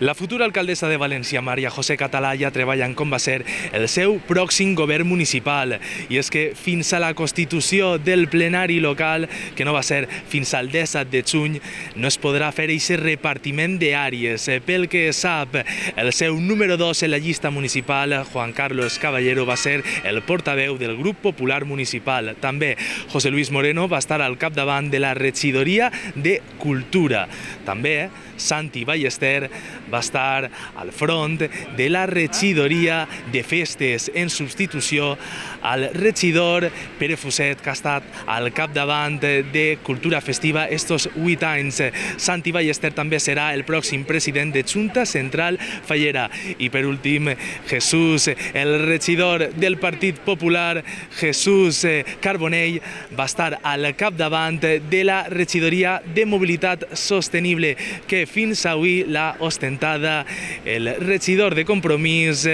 La futura alcaldessa de València, Maria José Català, ja treballa en com va ser el seu pròxim govern municipal. I és que fins a la constitució del plenari local, que no va ser fins al 17 de juny, no es podrà fer aquest repartiment d'àrees. Pel que sap, el seu número 2 en la llista municipal, Juan Carlos Caballero, va ser el portaveu del grup popular municipal. També José Luis Moreno va estar al capdavant de la regidoria de Cultura. També Santi Ballester va estar al front de la regidoria de Festes en substitució al regidor Pere Fuset, que ha estat al capdavant de Cultura Festiva estos 8 anys. Santi Ballester també serà el pròxim president de Junta Central Fallera. I per últim, Jesús, el regidor del Partit Popular, Jesús Carbonell, va estar al capdavant de la regidoria de Mobilitat Sostenible, que fins avui l'ha ostentada el regidor de Compromís,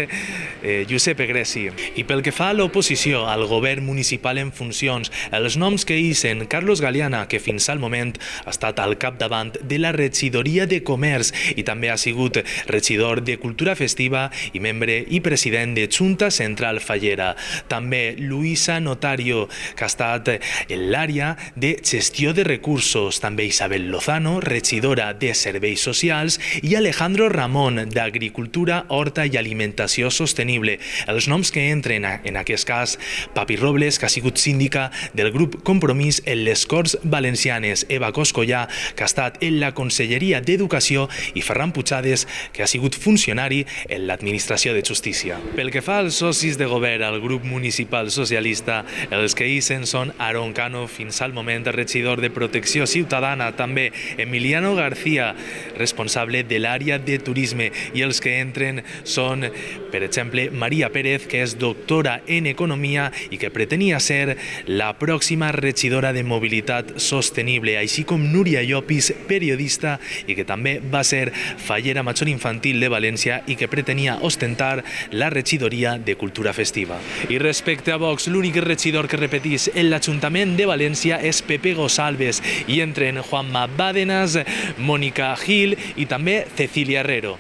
Giuseppe Greci. I pel que fa a l'oposició al govern municipal en funcions, els noms que hisen Carlos Galeana, que fins al moment ha estat al capdavant de la regidoria de Comerç i també ha sigut regidor de Cultura Festiva i membre i president de Junta Central Fallera. També Luisa Notario, que ha estat en l'àrea de gestió de recursos. També Isabel Lozano, regidora de Serveis Socials, i Alejandro Ramón, d'Agricultura, Horta i Alimentació Sostenible. Els noms que entren en aquest cas: Papi Robles, que ha sigut síndica del grup Compromís en les Corts Valencianes, Eva Coscollà, que ha estat en la Conselleria d'Educació, i Ferran Puigades, que ha sigut funcionari en l'Administració de Justícia. Pel que fa als socis de govern al grup municipal socialista, els que hisen són Aaron Cano, fins al moment regidor de Protecció Ciutadana, també Emiliano García, responsable de l'àrea de turisme, i els que entren són, per exemple, Maria Pérez, que és doctora en Economia i que pretenia ser la pròxima regidora de Mobilitat Sostenible, així com Núria Llopis, periodista i que també va ser fallera major infantil de València i que pretenia ostentar la regidoria de Cultura Festiva. I respecte a Vox, l'únic regidor que repetís en l'Ajuntament de València és Pepe Gosalves, i entren Juanma Bàdenas, Mónica Gil i també Cecilia Herrero.